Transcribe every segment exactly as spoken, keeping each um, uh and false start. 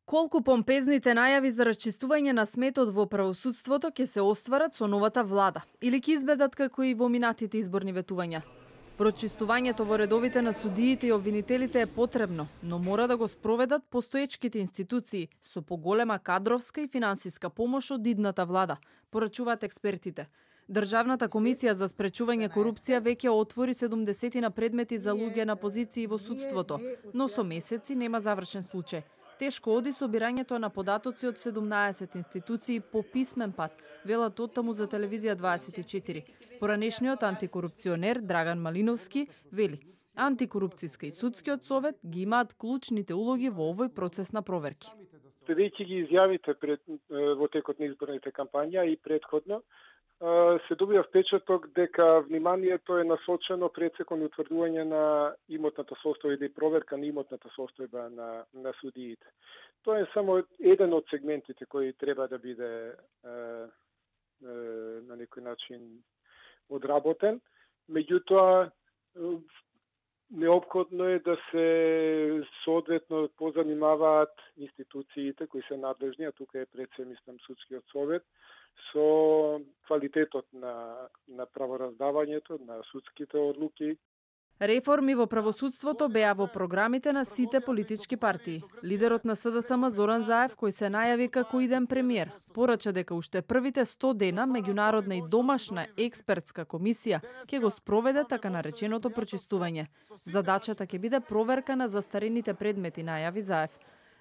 Колку помпезните најави за расчистување на сметот во правосудството ќе се остварат со новата влада или ќе изгледат како и во минатите изборни ветувања? Прочистувањето во редовите на судиите и обвинителите е потребно, но мора да го спроведат постоечките институции со поголема кадровска и финансиска помош од идната влада, порачуваат експертите. Државната комисија за спречување корупција веќе отвори седумдесет на предмети за луѓе на позиции во судството, но со месеци нема завршен случај. Тешко оди собирањето на податоци од седумнаесет институции по писмен пат, велат оттаму за телевизија дваесет и четири. Поранешниот антикорупционер Драган Малиновски вели: антикорупцијска и судскиот совет ги имаат клучните улоги во овој процес на проверки. Следејќи ги изјавите пред во текот на изборните кампања и предходно, се добива впечаток дека вниманието е насочено пред се кон утврдување на имотната состојба или проверка на имотната состојба на, на судиите. Тоа е само еден од сегментите кои треба да биде е, е, на некој начин одработен. Меѓутоа, неопходно е да се соодветно позанимаваат институциите кои се надлежни, а тука е пред се, мислам, судскиот совет, со квалитетот на, на правораздавањето, на судските одлуки. Реформи во правосудството беа во програмите на сите политички партии. Лидерот на СДСМ Зоран Заев, кој се најави како иден премиер, порача дека уште првите сто дена меѓународна и домашна експертска комисија ќе го спроведе така нареченото прочистување. Задачата ќе биде проверка на застарените предмети, најави Заев.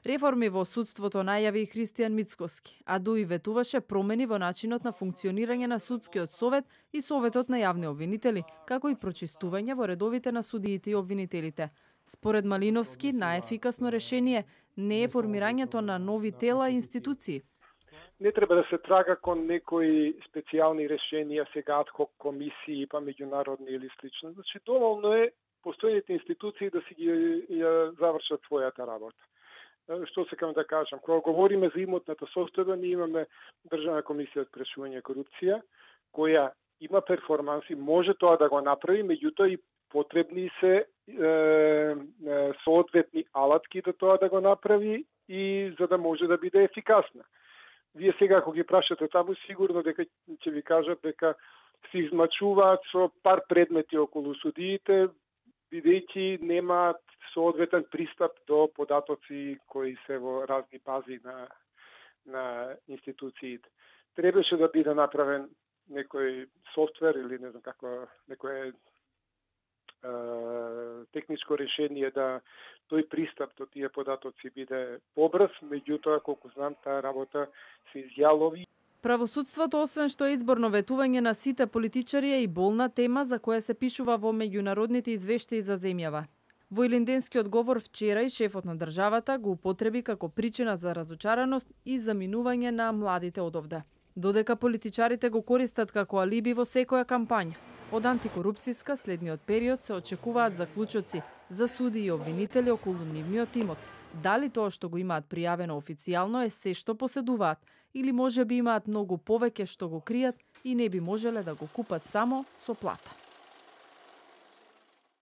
Реформи во судството најави и Христијан Мицкоски, а дуи ветуваше промени во начинот на функционирање на судскиот совет и советот на јавни обвинители, како и прочистување во редовите на судиите и обвинителите. Според Малиновски, најефикасно решение не е формирањето на нови тела и институции. Не треба да се трага кон некои специјални решенија, сега адхок комисии, па меѓународни или слично. Значи, доволно е постојните институции да си ги ја завршат својата работа. Што сакам да кажам, кога говориме за имотната состојба, ние имаме Државна комисија за спречување корупција, која има перформанси, може тоа да го направи, меѓутоа и потребни се е, е, соодветни алатки да тоа да го направи и за да може да биде ефикасна. Вие сега, ако ги прашате таму, сигурно дека ќе ви кажат дека се измачуваат со пар предмети околу судиите, бидејќи немаат соодветен пристап до податоци кои се во разни бази на, на институциите. Требаше да биде направен некој софтвер или не знам како, некој е, техничко решение да тој пристап до тие податоци биде побрз, меѓутоа, колку знам, таа работа се изјалови. Правосудството, освен што е изборно ветување на сите политичари, е и болна тема за која се пишува во меѓународните извештаи за земјава. Во Илинденскиот говор вчера и шефот на државата го употреби како причина за разочараност и заминување на младите одовде. Додека политичарите го користат како алиби во секоја кампања. Од антикорупцијска следниот период се очекуваат заклучоци за суди и обвинители околу нивниот имот. Дали тоа што го имаат пријавено официјално е се што поседуваат, или може би имаат многу повеќе што го кријат и не би можеле да го купат само со плата.